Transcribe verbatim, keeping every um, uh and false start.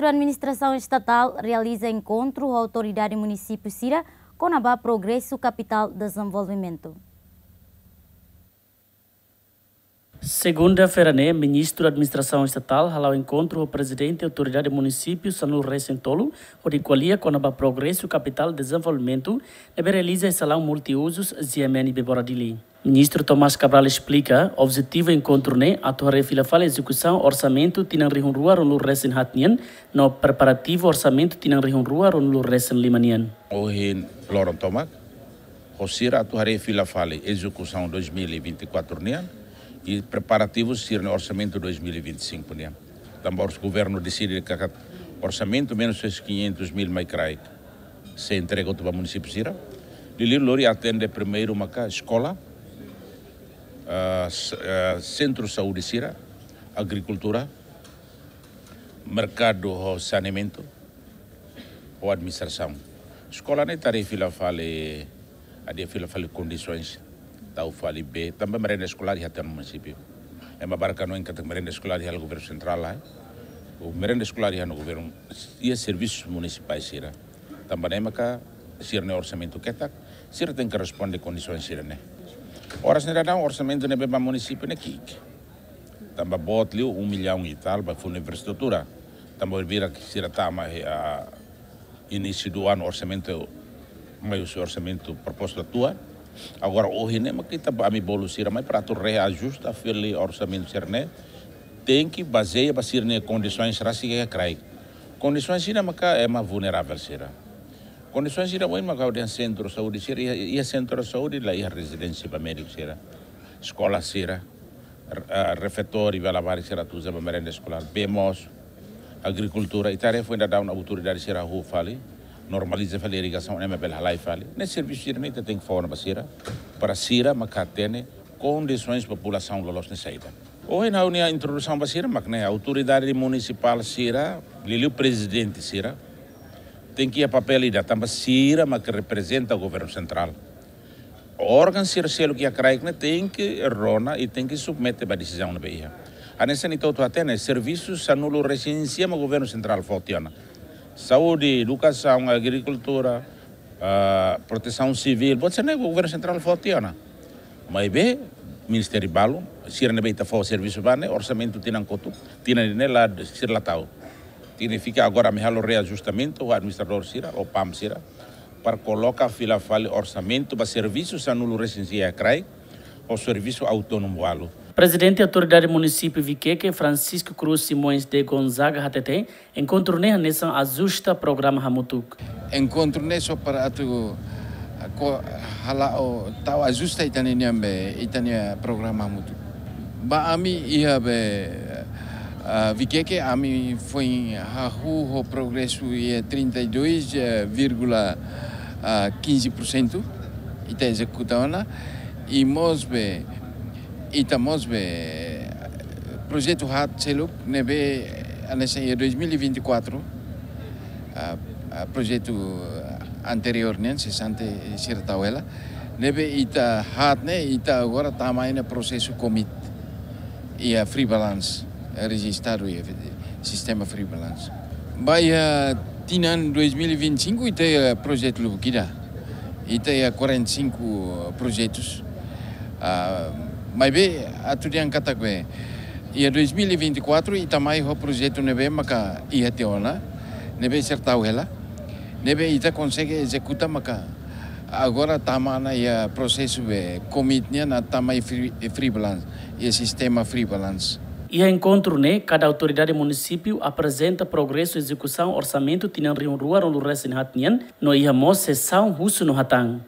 Administrasaun Estatál realiza enkontru ho autoridade munisípiu sira kona-ba progresu kapitál dezenvolvimentu. Segunda-feira ne'e, Ministru Administrasaun Estatál hala'o enkontru ho Prezidente Autoridade Munisípiu sanulu-resin-tolu, hodi ko'alia kona-ba progresu kapitál dezenvolvimentu, ne'ebé realiza iha salaun multiuzus G M N Bebora Dili. Ministru Tomás Cabral esplika, objetivu enkontru ne'e atu haree fila fali ezekusaun orsamentu tinan rihun rua ruanulu-resin-haat nian, no preparativu orsamentu tinan rihun rua ruanulu-resin-lima nian. Ohin loron tomak, ho sira atu haree fila fali ezekusaun dois mil e vinte e quatro nian, i preparativu sira-nia orsamentu dois mil e vinte e cinco nian. Tanba ors-, governu deside katak orsamentu menus quinhentos mil mai kraik sei entrega hotu ba munisípiu sira. Liuliu lori atende primeiru maka eskola, ah, s-, ah, sentru saúde sira, agrikultura, merkadu ho saneamentu, ho administrasaun. Eskola ne'e ita haree fila fali, ita haree fila fali kondisoens, tau fali bee, tanba merenda eskolár iha tiha ona munisípiu. Ema barak hanoin katak merenda eskolár iha governu sentrál, eh. O merenda eskolár iha ona governu, iha servisu munisipál sira. Tanba ne'e maka sira-nia orsamentu ketak, sira tenke responde kondisoens sira-ne'e. Oras ne'e daudaun orsamentu ne'ebé ba munisípiu ne'e ki'ik. Tanba boot liu um milhão e tal ba funu infraestrutura. Tanba vira ke sira tama, eh, inísiu do ano orsamentu, mai husi orsamentu propostu atu. Agora ohin ne'e maka ita ba ami bolu sira mai para atu reajusta fali orsamentu sira-ne'e. Tenke bazeia ba sira-nia kondisoens rasik iha kraik. Kondisoens sira maka ema vulneravel sira. Kondisoens sira ohin maka ha'u dehan sentru saúde sira, iha, iha sentru saúde la iha rezidénsia ba médiku sira. Eskola sira, r-, ah, refeitóriu ba labarik sira atu uza ba merenda eskolár, bee mós, agrikultura, ita haree foin daudaun autoridade sira hahú fali, normaliza fali irrigasaun, ema bele halai fali. Ne'e servisu sira-ne'e ita tenke fó ona ba sira, para sira maka hatene kondisoens populasaun loloos ne'e saida. Ohin ha'u-nia introdusaun ba sira mak ne'e, autoridade munisipál sira, liuliu prezidente sira, tenke iha papél ida, tanba sira mak reprezenta governu sentrál. Órgaun sira seluk iha kraik ne'e tenke rona i tenke submete ba desizaun ne'ebé iha. Hanesan ita hotu hatene, servisu sanulu-resin-sia mak governu sentrál fó tiha ona. Saúde, edukasaun, agrikultura, ah, protesaun sivíl, buat sira-ne'e governu sentrál fó tiha ona. Maibé, ministériu balu, sira ne'ebé ita fó servisu ba ne'e, orsamentu tinan kotuk, tinan ida-ne'e la, sira la tau. Signifika agora ami halo reajustamentu ho administradór sira, ho PAM sira, para koloka fila fali orsamentu ba servisu sanulu-resin-sia iha kraik, ho servisu autónomu balu. Prezidente Autoridade Munisípiu Viqueque, Francisco Cruz Simões de Gonzaga, hateten, enkontru ne'e hanesan ajusta programa hamutuk. Enkontru ne'e só para atu, ah, ko-, hala'o tau ajusta ita-nia, ita-nia programa hamutuk. Ba ami iha be, ah, Viqueque ami foin hahú ho progresu iha trinta e dois, eh, vírgula, ah, quinze por cento. Ita ezekuta ona, i mós be, ita mós be, projetu haat seluk ne'ebé hanesan iha dois mil e vinte e quatro, ah, ah, projetu anteriór nian, sesante sira tau hela, ne'ebé ita haat ne'e, ita agora tama iha prosesu komit, iha free balance, eh, rejistadu iha sistema free balance. Ba iha tinan dois mil e vinte e cinco ita iha projetu lubuk ida. Ita iha quarenta e cinco projetus. Ah, maibé atu dehan katak be, iha dois mil e vinte e quatro ita mai ho projetu ne'ebé maka iha tiha ona, ne'ebé sira tau hela, ne'ebé ita konsege ezekuta maka agora tama ona iha prosesu be komit nian atu tama iha free, free balance, iha sistema free balance. Iha enkontru ne'e, kada autoridade munisípiu aprezenta progresu ezekusaun orsamentu tinan rihun rua ruanulu-resin-haat nian, no iha mós sesaun husu no hatán.